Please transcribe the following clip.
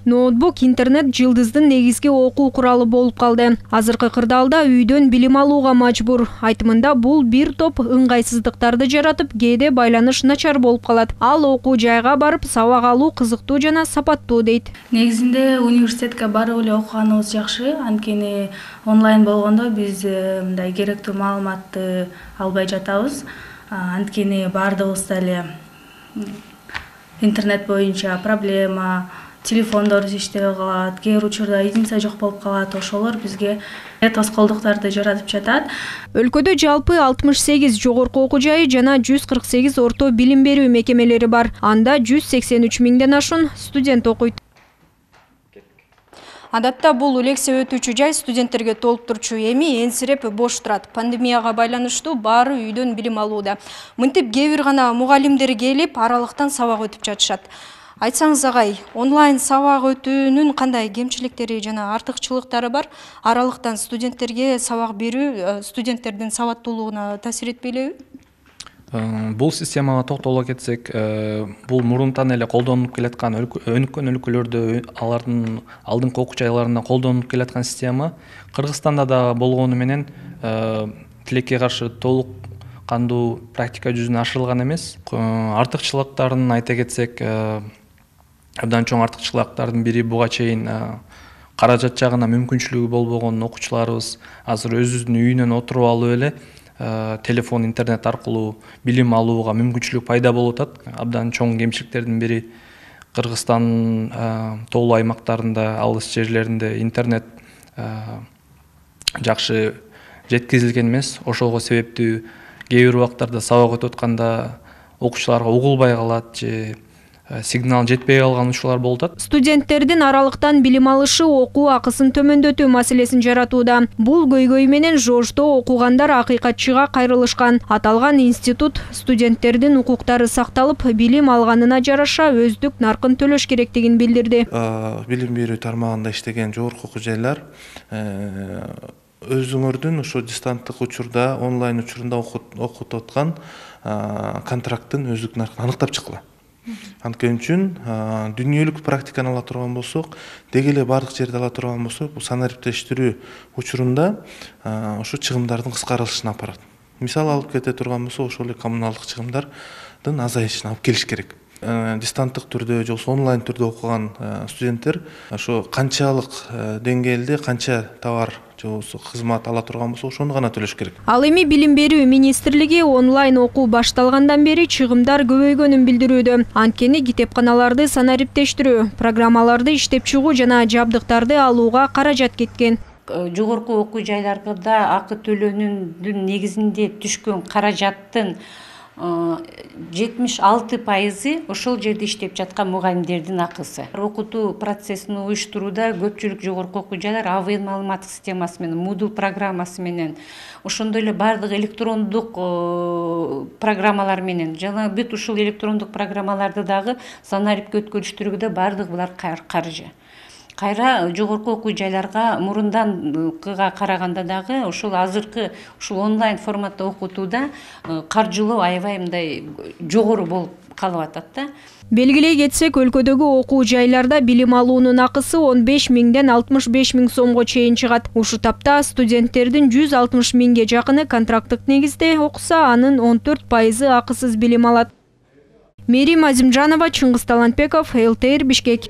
Ноутбук, интернет жылдыздын негизги окуу куралы болуп калды. Азыркы кырдаалда үйдөн билим алууга мажбур. Айтымында бул бир топ ыңгайсыздыктарды жаратып, кээде байланыш начар болуп калат. Ал окуу жайга барып сабак алуу кызыктуу жана сапаттуу дейт. Негизинде университетке барып эле окуганыбыз жакшы. Анткени онлайн болгондо биз мындай керектүү маалыматты албай жатабыз. Анткени баардыгыбызда эле интернет боюнча проблема, телефондор иштебей калат, кээ бир учурда единица жок болуп калат. Ошолор бизге тоскоолдуктарды жаратып жатат. Өлкөдө жалпы 68 жогорку окуу жайы жана 148 орто билим берүү мекемелери бар. Анда 183 миңден ашуун студент окуйт. Адатта бул лекция өтүүчү жай студенттерге толуп турчу, эми энсиреп бош турат. Пандемияга байланыштуу баары үйдөн билим алууда. Мынтип кээ бир гана мугалимдер келип, аралыктан сабак өтүп жатышат. Айтсаңыз агай, онлайн сабак өтүүнүн кандай кемчиликтери жана артыкчылыктары бар? Аралыктан студенттерге сабак берүү студенттердин сабаттуулугуна таасир этпейлеби? Бул системага токтоло кетсек, бул мурунтан эле колдонулуп келаткан өнүккөн өлкөлөрдө алардын алдыңкы окуу жайларында колдонулуп келаткан система Кыргызстанда да болгону менен тилекке каршы толук кандуу практика жүзүнө ашырылган эмес. Артыкчылыктарын айта кетсек, абдан чоң артыкчылыктардын бири буга чейин каражат жагына мүмкүнчүлүгү болбогон окуучуларыбыз азыр өзүнүн үйүнөн отуруп алып эле телефон, интернет аркылуу билим алууга мүмкүнчүлүк пайда болуп атат. Абдан чоң кемчиликтердин бири Кыргызстандын тоолуу аймактарында, алыс жерлеринде интернет жакшы жеткизилген эмес. Ошого себептүү кээ бир убактарда сабак өтүп атканда окуучуларга угулбай калат же сигнал жетпей калган учурлар болуп атат. Студенттердин аралыктан билим алышы окуу акысын төмөндөтүү маселесин жаратууда. Бул көйгөй менен ЖОЖдо окугандар акыйкатчыга кайрылышкан. Аталган институт студенттердин укуктары сакталып, билим алганына жараша өздүк наркын төлөш керектигин билдирди. Билим берүү тармагында иштеген жогорку окуу жайлар өзүңөрдүн ошо дистанттык учурда, онлайн учурунда окутуп аткан контракттын өздүк наркын аныктап чыккыла. Анткени үчүн дүйнөлүк практиканы ала турган болсок, деги эле бардык жерде ала турган болсок, бул санариптештирүү учурунда ошо чыгымдардын кыскарылышына алып барат. Мисал алып кете турган болсок, ошол эле коммуналдык чыгымдардын азайышына алып келиш керек. Дистанттык түрдө же онлайн түрдө окуган студенттер ошо канчалык деңгээлде канча товар же кызмат ала турган болсо, ошону гана төлөш керек. Ал эми Билим берүү министрлиги онлайн окуу башталгандан бери чыгымдар көбөйгөнүн билдирүүдө. Анткени китепканаларды санариптештирүү, программаларды иштеп чыгуу жана жабдыктарды алууга каражат кеткен. Жогорку окуу жайларда акы төлөөнүн негизинде түшкөн каражаттын 76% ошол жерде иштеп жаткан мугалимдердин акысы. Окутуу процессин уюштурууда көпчүлүк жогорку окуу жайлар АВН маалыматтык системасы менен, Moodle программасы менен, ошондой эле бардык электрондук программалар менен, жана бүт ушул электрондук программаларды дагы санарипке өткөрүштүрүүдө бардык булар каржы. Кайра жогорку окуу жайларга мурунданкыга караганда дагы ушул азыркы ушул онлайн форматта окутууда каржылоо аябай мындай жогору болуп калып атат да. Белгилей кетсек, өлкөдөгү окуу жайларда билим алуунун акысы 15 миңден 65 миң сомго чейин чыгат. Ушу тапта студенттердин 160 миңге жакыны контракттык негизде окуса, анын 14% акысыз билим алат. Мерим Азимжанова, Чыңгыз Талантбеков, ЛТР, Бишкек.